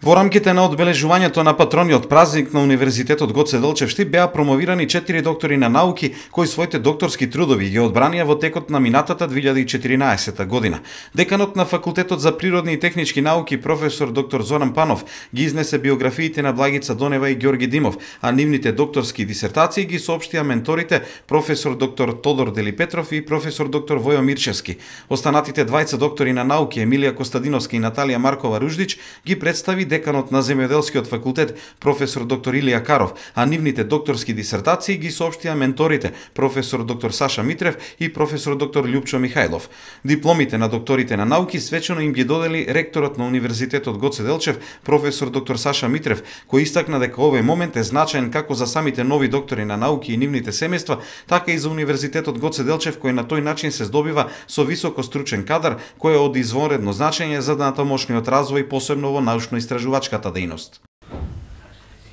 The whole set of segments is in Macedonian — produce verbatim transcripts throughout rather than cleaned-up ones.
Во рамките на одбележувањето на патрониот празник на Универзитетот Гоце Делчев Штип беа промовирани четири доктори на науки кои своите докторски трудови ги одбранија во текот на минатата две илјади и четиринаесета година. Деканот на Факултетот за природни и технички науки професор доктор Зоран Панов ги изнесе биографиите на Благица Донева и Ѓорги Димов, а нивните докторски дисертации ги соопштија менторите професор доктор Тодор Делипетров и професор доктор Војо Мирчевски. Останатите двајца доктори на науки Емилија Костадиновска и Наталија Маркова Руждич ги представи деканот на Земјоделскиот факултет професор доктор Илија Каров, а нивните докторски дисертации ги соопштија менторите професор доктор Саша Митрев и професор доктор Љупчо Михајлов. Дипломите на докторите на науки свечено им ги додели ректорот на Универзитетот Гоце Делчев професор доктор Саша Митрев, кој истакна дека овој момент е значаен како за самите нови доктори на науки и нивните семејства, така и за Универзитетот Гоце Делчев, кој на тој начин се здобива со високо стручен кадар кој е од извонредно значење за натамошниот развој, посебно во научно-истражувачката дејност.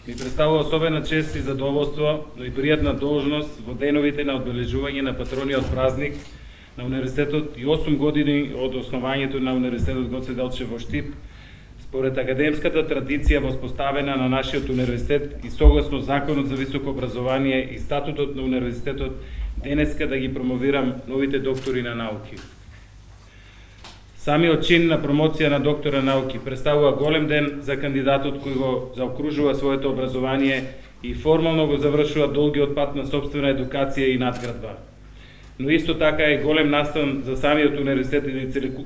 Ми представува особена чест и задоволство, но и пријатна должност во деновите на одбележување на патрониот празник на Универзитетот и осум години од основањето на Универзитетот Гоце Делчев во Штип, според академската традиција воспоставена на нашиот универзитет и согласно Законот за високо образование и статутот на универзитетот, денеска да ги промовирам новите доктори на науки. Самиот чин на промоција на доктора науки представува голем ден за кандидатот кој го заокружува своето образование и формално го завршува долгиот пат на собствена едукација и надградба. Но исто така е голем настан за самиот универзитет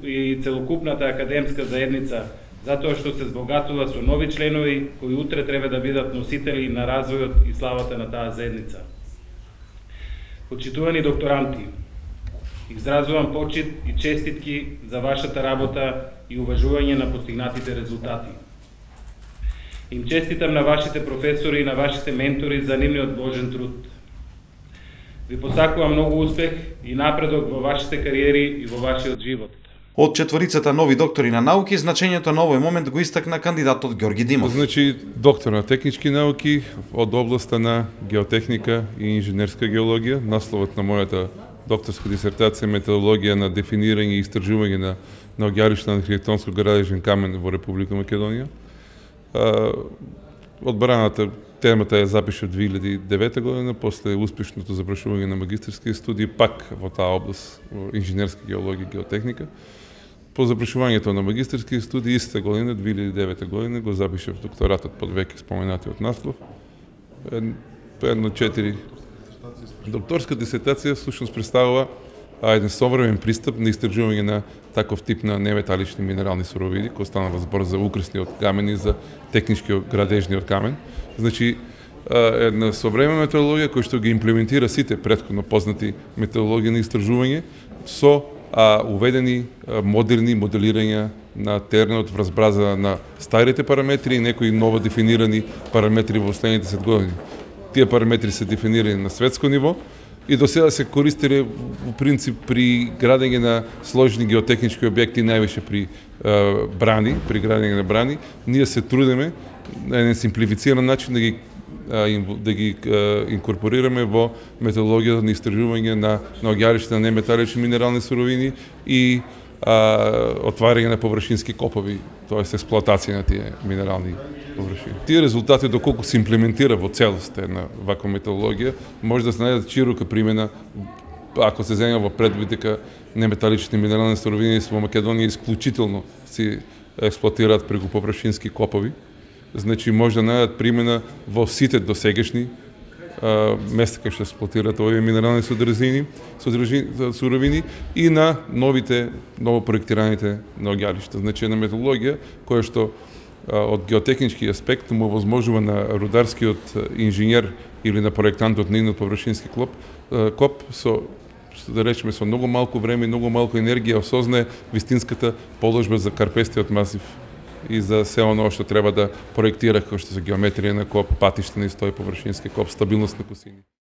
и целокупната академска заедница, затоа што се збогатува со нови членови кои утре треба да бидат носители на развојот и славата на таа заедница. Почитувани докторанти, изразувам почит и честитки за вашата работа и уважување на постигнатите резултати. Им честитам на вашите професори и на вашите ментори за нивниот вложен труд. Ви посакувам многу успех и напредок во вашите кариери и во вашиот живот. Од четворицата нови доктори на науки, значењето на овој момент го истакна кандидатот Ѓорги Димов. Значи, доктор на технички науки од областа на геотехника и инженерска геологија. Насловот на мојата докторска дисертација методологија на дефинирање и истражување на, на оѓаришта на архитектонско-градежен камен во Република Македонија. Одбраната темата ја запиша две илјади и девета година, после успешното завршување на магистерски студии, пак во таа област, во инженерска геологија и геотехника. По завршувањето на магистерски студии истата година, две илјади и девета година, го запишав докторатот под веќе споменатиот наслов. Едно четири докторска дисертација всушност представува еден современ пристап на истражување на таков тип на неметалични минерални суровини, кој станува збор за украсниот камен и за техничкиот градежниот камен. Значи, една современа методологија која што ги имплементира сите претходно познати методологии на истражување со а, уведени а, модерни моделирања на теренот врз база на старите параметри и некои ново дефинирани параметри во следните десет години. Тие параметри се дефинирани на светско ниво и до сега се користеле во принцип при градење на сложни геотехнички објекти, највише при е, брани, при градење на брани. Ние се трудиме на еден симплифициран начин да ги да ги инкорпорираме во методологијата на истражување на на оѓаришта на неметалични минерални суровини и а, отварање на површински копови, тоест експлоатација на тие минерални површини. Тие резултати доколку се имплементира во целост една ваква методологија, може да се најдат широка примена ако се земе во предвид дека неметалични минерални суровини во Македонија исклучително се експлоатираат преку површински копови. Значи може да најдат примена во сите досегашни места кај што експлоатираат овие минерални содржини, суровини и на новите, ново проектираните на оѓаришта. Значи една методологија која што од геотехнички аспект му возможува на рударскиот инженер или на проектантот на еден површински клоп, коп со да речеме со многу малку време и многу малку енергија осознае вистинската положба за карпестиот масив и за се оно што треба да проектира, како што се геометрија на коп, патишта на истој површински коп, стабилност на косини.